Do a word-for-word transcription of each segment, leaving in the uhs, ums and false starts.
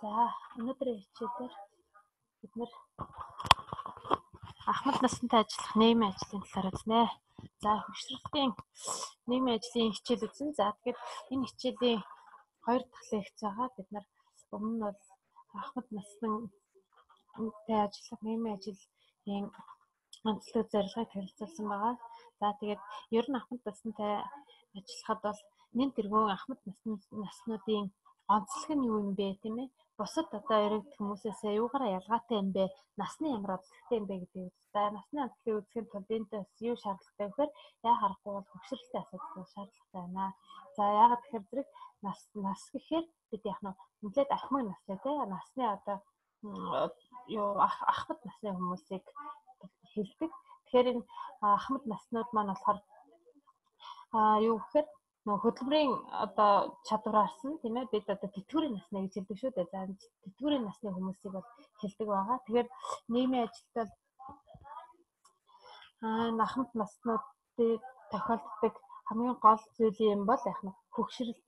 За өнөөдрийн хичээлээр бид нэр Ахмад насантай ажиллах нийгмийн ажлын талаар үзнэ. За хөгшрөлтийн нийгмийн ажлын хичээл үзэн. За тэгэхээр энэ хичээлийн хоёр дахь лекц байгаа. Бид нар өмнө нь бол Ахмад насантай ажиллах нийгмийн ажлын онцлог зорилгыг танилцуулсан байгаа. За тэгээд ер нь Ахмад насантай ажиллахад бол нэн тэргүүн Ахмад наснуудын онцлог нь юу юм бэ, тийм ээ? Бусад одоо иргэд хүмүүсээс юугаараа ялгаатай юм бэ? Насны ямар онцлогтой юм бэ гэдэг үү? За насны онцлогыг үзэхэд тул энэс юу шаардлагатай вэ гэхээр яа харахгүй бол хөгшрөлтийн асуудал шаардлагатай байна. За яагаад тэгэхээр зэрэг нас нас гэхээр бид яг нь нэлээд ахмад настай тийм насны одоо юу Ахмад насны хүмүүсийг хэлдэг. Тэгэхээр энэ Ахмад наснууд маань болохоор а юу гэхээр нөх хөдөлмөрийн одоо чадвараас нь тийм ээ бид одоо тэтгэврийн насны гэж хэлдэг шүү дээ. За тэтгэврийн насны хүмүүсийг бол хэлдэг байгаа. Тэгэхээр нийгмийн ажилтнууд аа Ахмад наснуудыг тохиолддог хамгийн гол зүйл юм бол яг нь хөгшрөлт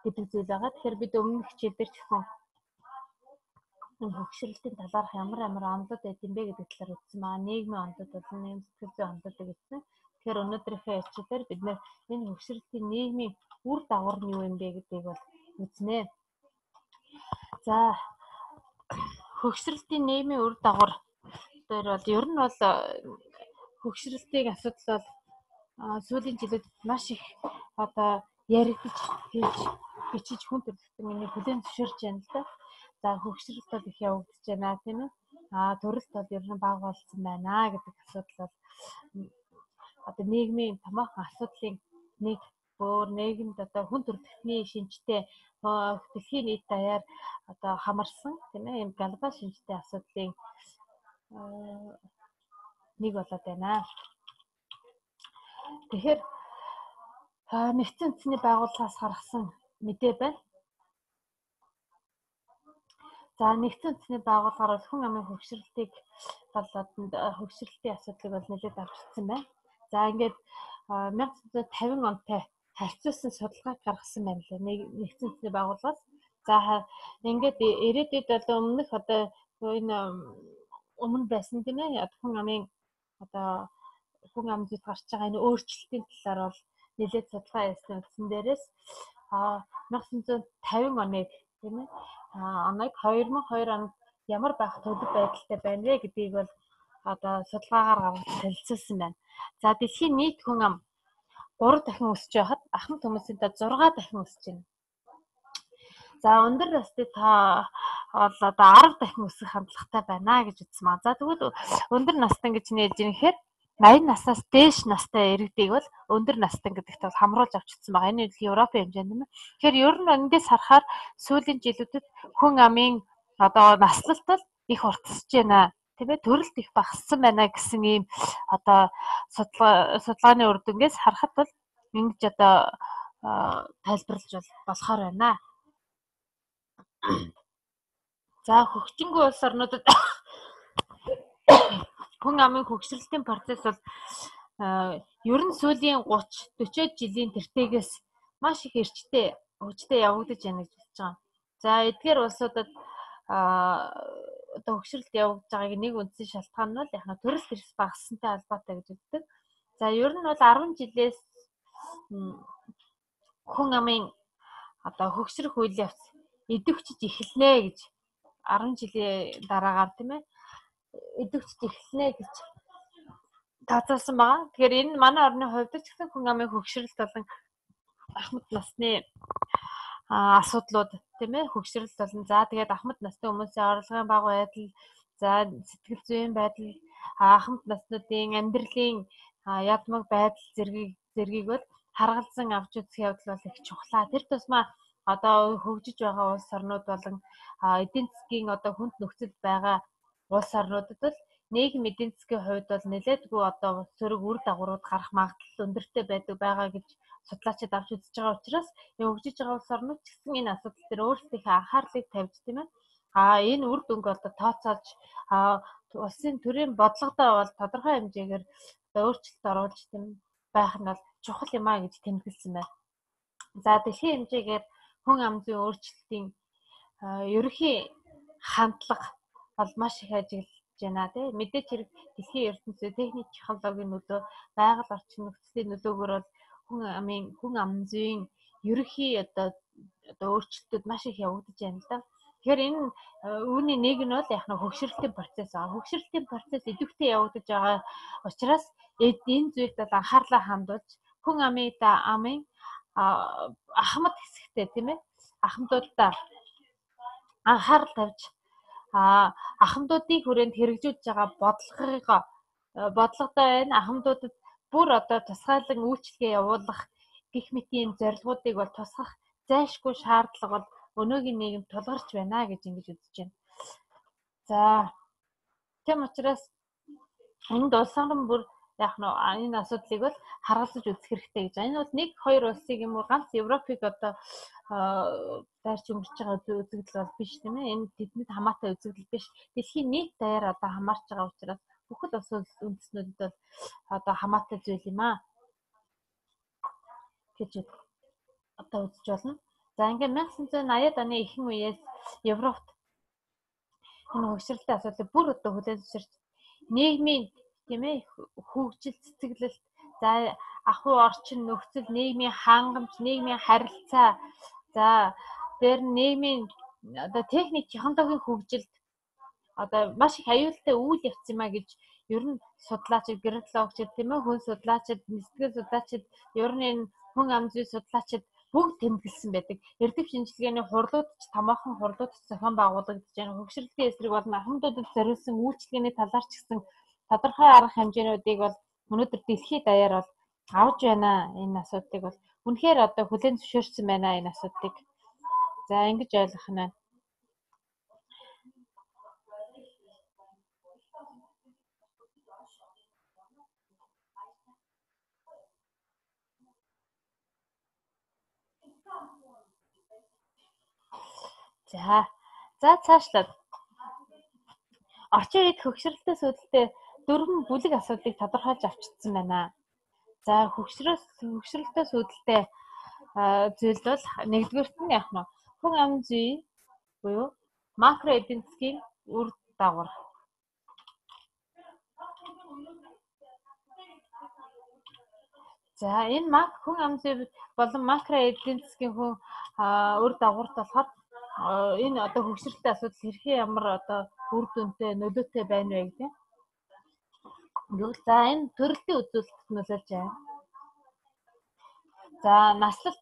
гэдэг зүйл байгаа. Тэгэхээр бид өмнөх хичээлдэр зөвхөн энэ хөгшрөлтийн талаарх ямар ямар онолд байд юм бэ гэдэг талаар үзсэн байгаа. Нийгмийн онолд болон нийгэм сэтгэл зүйн онолд гэсэн. Тэгэхээр өнөөдрийнхөө хичээлээр бид нэр энэ хөгшрөлтийн нийгмийн үр дагавар нь юу юм бэ гэдгийг бол үзнэ. За хөгшрөлтийн нийгмийн үр дагавар дээр бол ер нь бол хөгшрөлтийн асуудал бол сүүлийн жилүүд маш их одоо яригдж хийж бичиж хүн төрөлхтөн миний хүлээн зөвшөөрч байна л да. За хөгшрөлт бол их явагдаж байна тийм ээ. Аа төрөлт бол ер нь бага болсон байна гэдэг асуудал бол одоо нийгмийн томоохон асуудлын нэг өөр нийгэмд одоо хүн төрөлхтний шинжтэй дэлхийн нийт даяар одоо хамарсан тийм ээ юм глобал шинжтэй асуудлын нэг болоод байна. Тэгэхээр нэгдсэн үндэсний байгууллагаас гаргасан мэдээ байна. За нэгдсэн үндэсний байгууллагаар бол хүн амын хөгшрөлтийг бол хөгшрөлтийн асуудлыг бол нэлээд авчирсан байна. За ингээд мянга тоғыз жүз тавин онтой харьцуулсан судалгааг гаргасан байна лээ. Нэгдсэн үндэсний байгууллагаас. За ингээд ирээдүйд одоо өмнөх одоо энэ өмнө байсан тийм ээ хүн амын одоо хүн ам зүйд гарч байгаа энэ өөрчлөлтийн талаар бол нэлээд судалгаа хийсэн үндсэн дээрээс мянга тоғыз жүз тавин оныг тийм ээ оныг хоёр мың хоёр онд ямар байх төлөв байдалтай байна вэ гэдгийг бол одоо судалгаагаар гаргаж танилцуулсан байна. За дэлхийн нийт хүн ам гурав дахин өсөж байхад Ахмад хүмүүсийн та зургаа дахин өсөж байна. За өндөр насны та бол одоо арав дахин өсөх хандлагатай байна гэж үзсэн байна. За тэгвэл өндөр настан гэж нээж ирэхээр аян наснаас дээш настай иргэдийг бол өндөр настан гэдэгт бол хамруулж авчирсан байгаа. Энэ нь Европын хэмжээнд юм. Тэгэхээр ер нь эндээс харахаар сүүлийн жилүүдэд хүн амын одоо наслалт бол их уртсаж байна. Тийм ээ төрөлт их багассан байна гэсэн ийм одоо судалгаа судалгааны үр дүнгээс харахад бол ингэж одоо тайлбарлаж болохоор байна. За хөгжингүй улс орнуудад хүн амын хөгшрөлтийн процесс бол ер нь сүүлийн гуч дөрвөн жилийн тэртегээс маш их эрчтэй хөгжтэй явагдаж байна гэж хэлж байгаа. За эдгээр улсуудад одоо хөгшрөлт явагдаж байгааг нэг үндсэн шалтгаан нь бол яг нь төрөлт эрс багассантай холбоотой гэж үздэг. За ер нь бол арван жилээс хүн амын одоо хөгшрөх үйл явц идэвхжиж эхэлнэ гэж арван жилийн дараагаар тийм ээ идэвхжиж эхэлнэ гэж тооцоолсон байгаа. Тэгэхээр энэ манай орны хувьд ч гэсэн хүн амын хөгшрөлт болон Ахмад насны асуудлууд тийм ээ хөгшрөлт болон за тэгээд Ахмад насны хүмүүсийн орлогын бага байдал, за сэтгэл зүйн байдал, Ахмад наснуудын амьдралын ядмаг байдал зэргийг зэргийг бол харгалзан авч үзэх явдал бол их чухлаа. Тэр тусмаа одоо хөгжиж байгаа улс орнууд болон эдийн засгийн одоо хүнд нөхцөл байгаа улс орнуудад бол нийгэм эдийн засгийн хувьд бол нэлээдгүй одоо сөрөг үр дагаврууд гарах магадлал өндөртэй байдаг байгаа гэж судлаачид авч үзэж байгаа учраас хөгжиж байгаа улс орнууд ч гэсэн энэ асуудал дээр өөрсдийнхөө анхаарлыг тавьж тийм ээ а энэ үр дүнг одоо тооцоолж улсын төрийн бодлогодоо бол тодорхой хэмжээгээр өөрчлөлт оруулж тийм байх нь бол чухал юм а гэж тэмдэглэсэн байна. За дэлхийн хэмжээгээр хүн ам зүйн өөрчлөлтийн ерөнхий хандлага бол маш их ажиглаж байна тий. Мэдээч хэрэг дэлхийн ертөнцийн техник технологийн нөлөө, байгаль орчин нөхцөлийн нөлөөгөөр бол хүн амын хүн ам зүйн ерөнхий одоо одоо өөрчлөлтүүд маш их явагдаж байна л да. Тэгэхээр энэ үүний нэг нь бол яг нэг хөгшрөлтийн процесс аа. Хөгшрөлтийн процесс идэвхтэй явагдаж байгаа учраас энэ зүйлд бол анхаарлаа хандуулж хүн амын да амын ахмад хэсэгтээ тийм ээ ахмадуудаа анхаарал тавьж ахмадуудын хүрээнд хэрэгжүүлж байгаа бодлогыг бодлоготой байна. Ахмадуудад бүр одоо тусгайлан үйлчлэгээ явуулах гэх мэт ийм зорилгоодыг бол тусгах зайлшгүй шаардлага бол өнөөгийн нийгэмд тулгарч байна гэж ингэж үзэж байна. За тийм учраас энд улс орн бүр яг нь энэ асуудлыг бол харгалзаж үзэх хэрэгтэй гэж. Энэ бол нэг хоёр улсыг юм уу ганц Европыг одоо дайрч өнгөрч байгаа үзэгдэл бол биш тийм ээ. Энэ тэднийд хамаатай үзэгдэл биш. Дэлхийн нийт даяар одоо хамаарч байгаа учраас бүхэл улс үндэстнүүдэд бол одоо хамаатай зүйл юм аа гэж одоо үзэж болно. За ингээд мянга санаа зүйн аяад оны ихэнх үеэс Европт энэ хөгшрөлтийн асуудлыг бүр одоо хүлээн зөвшөөрч нийгмийн тийм ээ хөгжил цэцэглэлт за ахуй орчин нөхцөл нийгмийн хангамж нийгмийн харилцаа за дээр нийгмийн одоо техник технологийн хөгжилд одоо маш их аюултай үйл явц юм а гэж ер нь судлаачид геологчид тийм ээ хүн судлаачид сэтгэл судлаачид ер нь энэ хүн ам зүй судлаачид бүгд тэмдэглэсэн байдаг. Эрдэв шинжилгээний хурлууд ч томоохон хурлууд зохион байгуулагдаж байна. Хөгшрөлтийн эсрэг болон ахмадуудад зориулсан үйлчлэгээний талаар ч гэсэн тодорхой арга хэмжээнүүдийг бол өнөөдөр дэлхийд даяар бол авж байна. Энэ асуудлыг бол үнэхээр одоо хүлээн зөвшөөрсөн байна энэ асуудлыг. За ингэж ойлгох нь. За. За цаашлаад орчин үед хөгшрөлтөөс үүдэлтэй дөрвөн бүлэг асуудлыг тодорхойлж авчирсан байна. За хөгшрөл хөгшрөлтөөс үүдэлтэй зүйл бол нэгдүгээрт нь яг нь хүн ам зүй буюу макро эдийн засгийн үр дагавар. За энэ мак хүн ам зүй болон макро эдийн засгийн хүн үр дагаварт болохоор энэ одоо хөгшрөлтийн асуудал хэрхэн ямар одоо үр дүнтэй нөлөөтэй байна вэ гэдэг. За энэ төрөлтийн үзүүлэлтэд нөлөөлж байна. За наслалт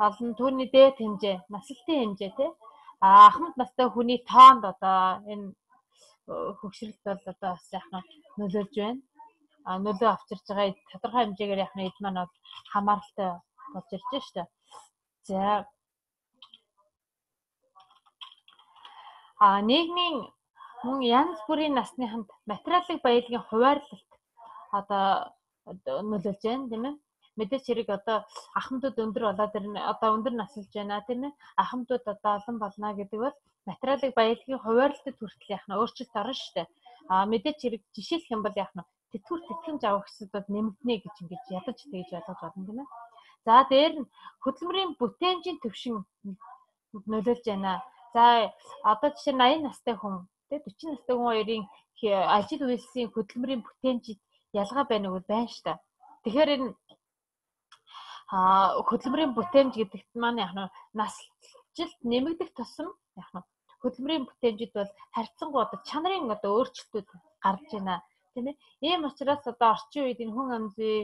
болон түүний дээд хэмжээ, наслалтын хэмжээ тий. А ахмад настай хүний тоонд одоо энэ хөгшрөлт бол одоо бас яг нөлөөлж байна. А нөлөө авчирж байгаа тодорхой хэмжээгээр яг эд маань бол хамааралтай болж ирж байна шүү дээ. За а нийгмийн мөн янз бүрийн насныханд материалын баялагын хуваарлалт одоо нөлөөлж байна тийм ээ. Мэдээч хэрэг одоо ахмадууд өндөр болоод ирнэ одоо өндөр наслж байна тийм ээ. Ахмадууд одоо олон болно гэдэг бол материалын баялагын хуваарлалтад хүртэл яг нь өөрчлөлт орно шүү дээ. А мэдээч хэрэг жишээлх юм бол яг нь тэтгэвэр тэтгэмж авах хэсэгүүд нэмэгдэнэ гэж ингэж ядаж тэгж ойлгож байна тийм ээ. За дээр нь хөдөлмөрийн бүтээнжийн түвшин нөлөөлж байна. За одоо жишээ нь аян настай хүн тий дөрвөн настай хүн хоёрын ажил үйлсийн хөдөлмөрийн бүтээнжид ялгаа байна уу байна шүү дээ. Тэгэхээр энэ а хөдөлмөрийн бүтээмж гэдэгт маань яг нь наслжилт нэмэгдэх тусам яг нь хөдөлмөрийн бүтээмжид бол харьцангуй одоо чанарын одоо өөрчлөлтүүд гарч байна тийм ээ. Ийм учраас одоо орчин үед энэ хүн ам зүй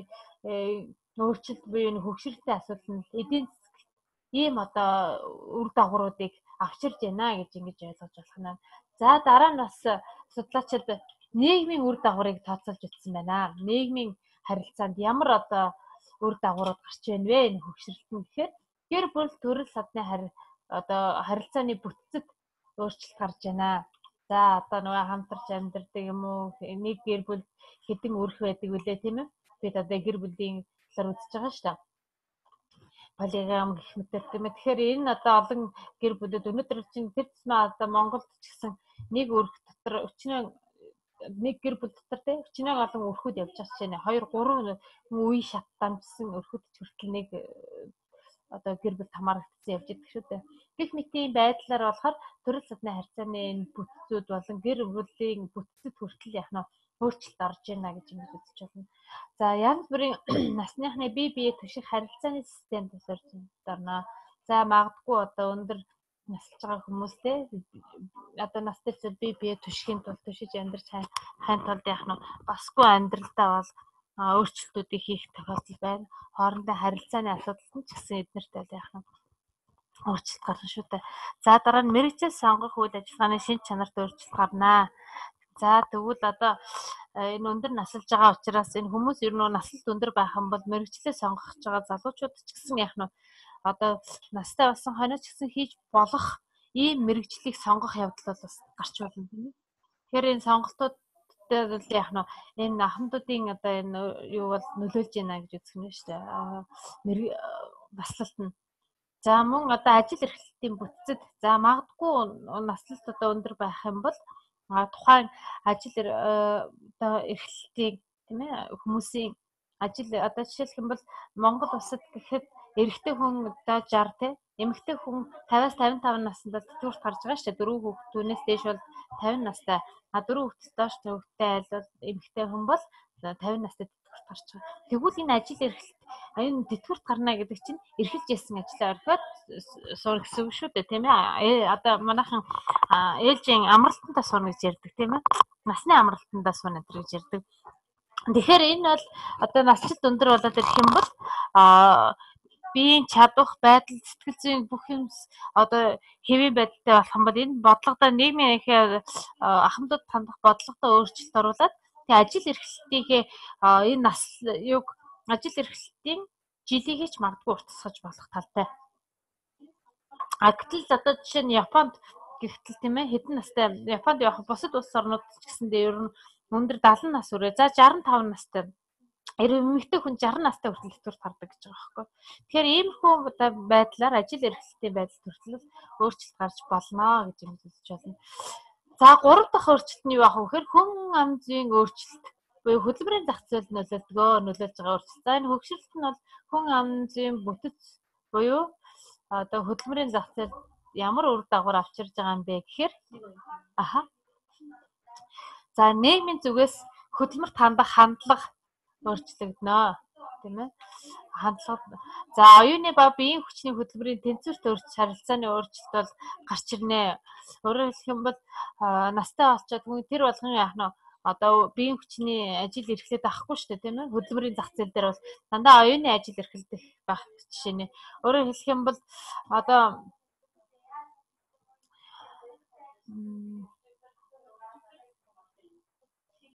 өөрчлөлт буюу энэ хөгшрөлтийн асуудал нь эдийн засагт ийм одоо үр дагавруудыг авчирж байна гэж ингэж ойлгож болох нь. За дараа нь бас судлаачид нийгмийн үр дагаврыг тооцоолж үзсэн байна. Нийгмийн харилцаанд ямар одоо үр дагаврууд гарч байна вэ энэ хөгшрөлт нь гэхээр гэр бүл төрөл садны хари одоо харилцааны бүтцэд өөрчлөлт гарч байна. За одоо нөгөө хамтарч амьдардаг юм уу нэг гэр бүл хэдэн өрх байдаг үлээ тийм ээ. Бид одоо гэр бүлийн талаар үзэж байгаа шүү дээ. Полигам гэх мэт тийм ээ. Тэгэхээр энэ одоо олон гэр бүлүүд өнөөдөр чинь тэр тусмаа одоо Монголд ч гэсэн нэг өрх дотор өчнөө нэг гэр бүл дотор тийм өчнөө олон өрхүүд явж байгаа чинь хоёр гурван үе шат дамжсан өрхүүд ч хүртэл нэг одоо гэр бүл хамаарагдсан явж идэг шүү дээ. Гэх мэт ийм байдлаар болохоор төрөл садны харьцааны энэ бүтцүүд болон гэр бүлийн бүтцэд хүртэл яг нь өөрчлөлт орж байна гэж юм үзэж байна. За янз бүрийн насныхны бие биеэ түших харилцааны систем тусарч байна. За магадгүй одоо өндөр насалж байгаа хүмүүстэй одоо настай зүйл бие биеэ түшихийн тулд түшиж амьдрч хайн тулд яг нь басгүй амьдралдаа бол өөрчлөлтүүдийг хийх тохиолдол байна. Хоорондын харилцааны асуудалд нь ч гэсэн эднэрт бол яг нь өөрчлөлт гарна шүү дээ. За дараа нь мэргэжил сонгох үйл ажиллагааны шинж чанарт өөрчлөлт гарнаа. За тэгвэл одоо энэ өндөр насалж байгаа учраас энэ хүмүүс ер нь насалт өндөр байх юм бол мэргэжлээ сонгох гэж байгаа залуучууд ч гэсэн яг нь одоо настай болсон хойно ч гэсэн хийж болох ийм мэргэжлийг сонгох явдал бол бас гарч болно тийм ээ. Тэгэхээр энэ сонголтуудтай бол яг нь энэ ахмадуудын одоо энэ юу бол нөлөөлж байна гэж үзэх юм шүү дээ. Наслалт нь. За мөн одоо ажил эрхлэлтийн бүтцэд за магадгүй наслалт одоо өндөр байх юм бол тухайн ажил одоо эрхлэлтийн тийм ээ хүмүүсийн ажил одоо жишээлх юм бол Монгол улсад гэхэд эрэгтэй хүн одоо шестьдесят тий эмэгтэй хүн пятьдесяас пятьдесят и пять наснд тэтгэврт гарч байгаа шүү дээ. Дөрөв хүүхдүүнээс дээш бол пятьдесят настай. А дөрөв хүүхдээс доош хүүхдтэй айл бол эмэгтэй хүн бол пятьдесят настай тэтгэврт гарч байгаа. Тэгвэл энэ ажил эрхлэлт энэ тэтгэврт гарна гэдэг чинь эрхэлж ясан ажлаа орхиод суурь гэсэн үг шүү дээ тийм ээ. Одоо манайхан ээлжийн амралтандаа сурна гэж ярьдаг тийм ээ. Насны амралтандаа сурна гэж ярьдаг. Тэгэхээр энэ бол одоо насжилт өндөр болоод ирэх юм бол а биеийн чадвах байдал сэтгэл зүйн бүх юм одоо хэвийн байдалтай болох юм бол энэ бодлогодоо нийгмийн ихээ ахмадууд хандах бодлогодоо өөрчлөлт оруулаад тэгээ ажил эрхлэлтийнхээ энэ нас юг ажил эрхлэлтийн жилийг ч магадгүй уртасгаж болох талтай. А гэтэл одоо жишээ нь Японд гэхтэл тийм ээ хэдэн настай Японд явах бусад улс орнууд ч гэсэндээ ер нь өндөр дагалан нас хүрээ за шестьдесят и пять настай эмэгтэй хүн шестьдесят настай хүртэл тэтгэврт гардаг гэж байгаа байхгүй. Тэгэхээр иймэрхүү байдлаар ажил эрхлэлтийн байдал хүртэл өөрчлөлт гарч болно гэж юм үзэж байна. За гурав дахь өөрчлөлт нь юу ах вэ гэхээр хүн ам зүйн өөрчлөлт буюу хөдөлмөрийн зах зээл нөлөөлдгөө нөлөөлж байгаа өөрчлөлт. За энэ хөгжүүлэлт нь бол хүн ам зүйн бүтэц буюу одоо хөдөлмөрийн зах зээл ямар үр дагавар авчирж байгаа юм бэ гэхээр аха. За нийгмийн зүгээс хөдөлмөрт хандах хандлага өөрчлөгдөнө тийм ээ. Хандлага. За оюуны ба биеийн хүчний хөдөлмөрийн тэнцвэрт өөрчлөлт харилцааны өөрчлөлт бол гарч ирнэ. Өөрөөр хэлэх юм бол настай болчиход хүн тэр болгон яах нь одоо биеийн хүчний ажил эрхлээд авахгүй шүү дээ тийм ээ. Хөдөлмөрийн зах зээл дээр бол дандаа оюуны ажил эрхэлдэх байх жишээ нэ. Өөрөөр хэлэх юм бол одоо